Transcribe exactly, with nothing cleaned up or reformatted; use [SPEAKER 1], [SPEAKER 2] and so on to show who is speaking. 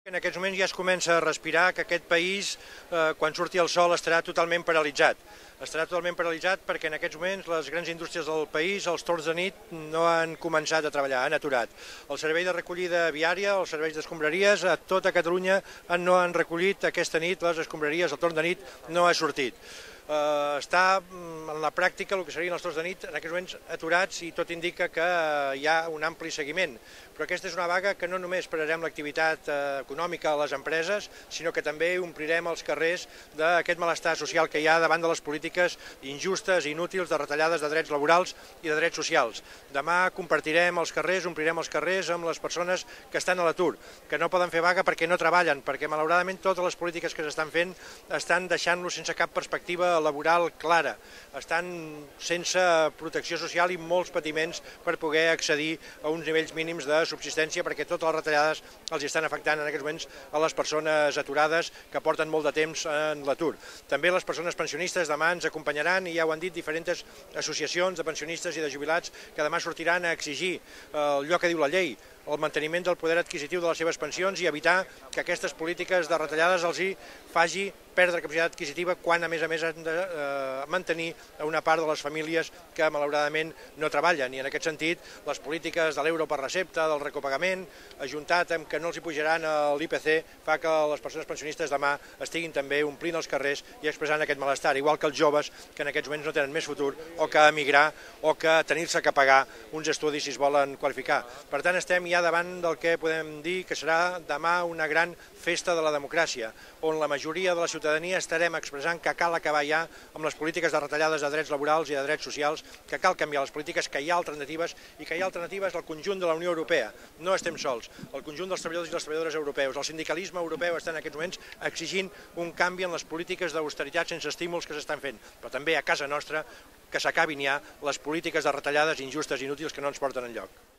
[SPEAKER 1] En aquests moments ja es comença a respirar que aquest país, eh, quan surti el sol, estarà totalment paralitzat. Estarà totalment paralitzat perquè en aquests moments les grans indústries del país, els torns de nit, no han començat a treballar, han aturat. El servei de recollida viària, els serveis d'escombraries, a tota Catalunya no han recollit aquesta nit les escombraries, el torn de nit no ha sortit. Uh, està en la pràctica el que serien els torns de nit en aquests moments aturats i tot indica que uh, hi ha un ampli seguiment. Però aquesta és una vaga que no només pararem l'activitat uh, econòmica a les empreses, sinó que també omplirem els carrers d'aquest malestar social que hi ha davant de les polítiques injustes i inútils de retallades de drets laborals i de drets socials. Demà compartirem els carrers, omplirem els carrers amb les persones que estan a l'atur, que no poden fer vaga perquè no treballen, perquè malauradament totes les polítiques que s'estan fent estan deixant-los sense cap perspectiva laboral clara, estan sense protecció social i molts patiments per poder accedir a uns nivells mínims de subsistència perquè totes les retallades els estan afectant en aquests moments a les persones aturades que porten molt de temps en l'atur. També les persones pensionistes demà ens acompanyaran i ja ho han dit diferents associacions de pensionistes i de jubilats que demà sortiran a exigir allò que diu la llei, el manteniment del poder adquisitiu de les seves pensions i evitar que aquestes polítiques de retallades els hi faci perdre capacitat adquisitiva quan a més a més han de eh, mantenir una part de les famílies que malauradament no treballen. I en aquest sentit les polítiques de l'euro per recepta, del recopagament, ajuntat amb que no els hi pujaran l'I P C, fa que les persones pensionistes demà estiguin també omplint els carrers i expressant aquest malestar, igual que els joves que en aquests moments no tenen més futur o que emigrar o que tenir-se que pagar uns estudis si es volen qualificar. Per tant, estem ja davant del que podem dir que serà demà una gran festa de la democràcia, on la majoria de la ciutadania estarem expressant que cal acabar ja amb les polítiques de retallades de drets laborals i de drets socials, que cal canviar les polítiques, que hi ha alternatives i que hi ha alternatives al conjunt de la Unió Europea. No estem sols, el conjunt dels treballadors i les treballadores europeus, el sindicalisme europeu està en aquests moments exigint un canvi en les polítiques d'austeritat sense estímuls que s'estan fent, però també a casa nostra que s'acabin ja les polítiques de retallades injustes i inútils que no ens porten enlloc.